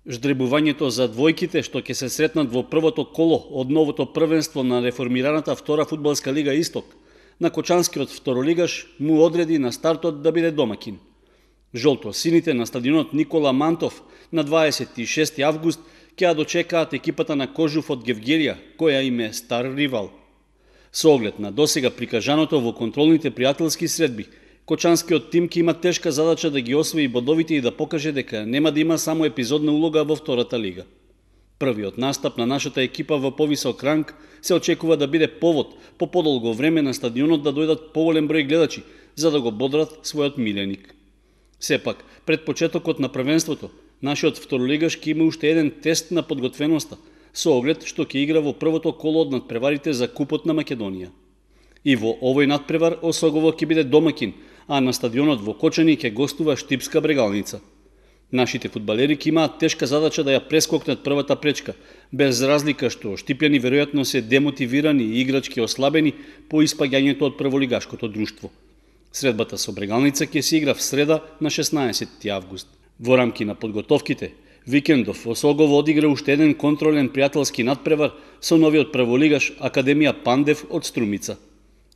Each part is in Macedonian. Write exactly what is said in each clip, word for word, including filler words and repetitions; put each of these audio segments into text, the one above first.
Ждребувањето за двојките што ќе се сретнат во првото коло од новото првенство на реформираната втора фудбалска лига Исток, на кочанскиот второлигаш му одреди на стартот да биде домакин. Жолто-сините на стадионот Никола Мантов на дваесет и шести август ќе ја дочекаат екипата на Кожув од Гевгелија, која им е стар ривал. Со оглед на досега прикажаното во контролните пријателски средби, кочанскиот тим ќе има тешка задача да ги освои бодовите и да покаже дека нема да има само епизодна улога во втората лига. Првиот настап на нашата екипа во повисок ранг се очекува да биде повод по подолго време на стадионот да дојдат поголем број гледачи, за да го бодрат својот миленик. Сепак, пред почетокот на првенството, нашиот второлигаш ќе има уште еден тест на подготвеноста, со оглед што ќе игра во првото коло од надпреварите за Купот на Македонија. И во овој надпревар Осогово ќе биде домакин, а на стадионот во Кочани ќе гостува Штипска Брегалница. Нашите фудбалери ќе имаат тешка задача да ја прескокнат првата пречка, без разлика што штипјани веројатно се демотивирани и играчки ослабени по испаѓањето од прволигашкото друштво. Средбата со Брегалница ќе се игра в среда на шеснаесети август. Во рамки на подготовките, викендов Осогово одигра уште еден контролен пријателски надпревар со новиот прволигаш Академија Пандев од Струмица.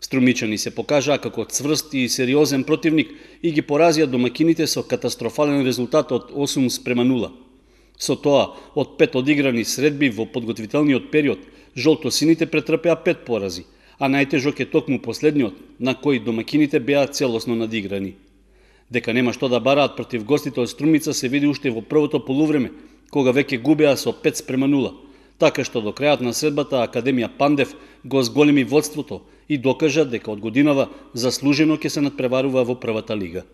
Струмичани се покажаа како цврст и сериозен противник и ги поразија домакините со катастрофален резултат од осум спрема нула. Со тоа, од пет одиграни средби во подготвителниот период, жолто-сините претрпеа пет порази, а најтежок е токму последниот, на кој домакините беа целосно надиграни. Дека нема што да бараат против гостите од Струмица се види уште во првото полувреме, кога веќе губеа со пет спрема нула, така што до крајот на средбата Академија Пандев го зголеми водството и докажа дека од годинава заслужено ќе се надпреварува во првата лига.